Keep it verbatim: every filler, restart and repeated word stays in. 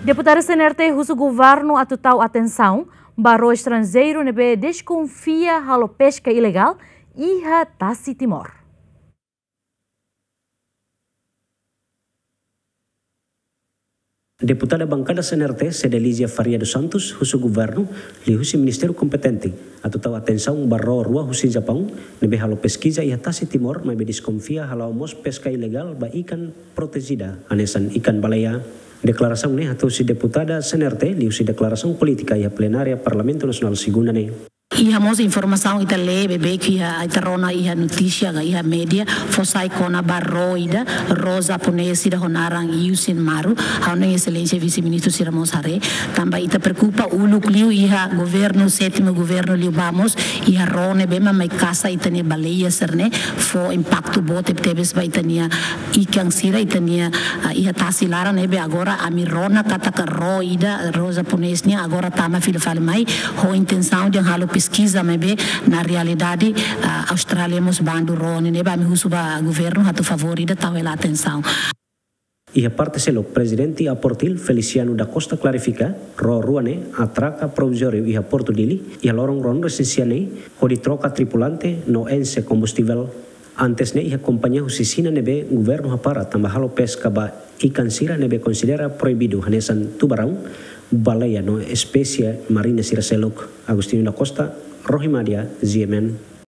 Deputadu C N R T husu governu atu tau atensaun ba ró estranjeiru ne'ebé deskonfia halo peska ilegál iha tasi Timor. Deputada bankada C N R T, Cedelizia Faria dos Santos, husu governu liuhusi ministériu kompetente atu tau atensaun ba ró rua husi Japaun ne'ebé halo peskiza iha tasi Timor, maibé deskonfia hala'o mós peska ilegál ba ikan protejida, hanesan ikan baleia. Deklarasaun ne'e hato'o husi deputada C N R T liuhusi deklarasaun polítika iha plenária Parlamentu Nasionál segunda ne'e. Iha mós informasaun ita lee beibeik iha, ita rona iha notísia ka iha média, fó sai kona-ba ró ida, ró japonés ida ho naran Iusin Maru, ha'u-nia Exelénsia Vise-Ministru sira mós haree, tanba ita preokupa uluk liu iha governu, sétimu governu liubá mós, iha ró ne'ebé mak mai kasa ita-nia baleia sira-ne'e, fó impaktu boot tebetebes ba ita-nia ikan sira, ita-nia, ah, iha tasi laran ne'ebé agora ami rona katak ró ida, ró japonés nian agora tama fila fali mai, ho intensaun de halo peskiza maibé na realidade, ah, Austrália mós bandu ró ne'e, ne'ebé ami husu ba governu atu favór ida tau hela atensaun. Iha parte seluk, Prezidente APORTIL Feliciano da Costa klarifika, ró rua ne'e atraka provizóriu iha Portu Dili, iha loron ruanulu-resin-sia ne'e, hodi troka tripulante no enxe kombustivel. Antes ne'e iha kompañia husi Xina ne'ebé governu hapara tanba halo peska ba ikan sira ne'ebé konsidera proibidu hanesan tubaraun, baleia no espésie marina sira seluk. Agostinho da Costa, Rohi Madia, G M N.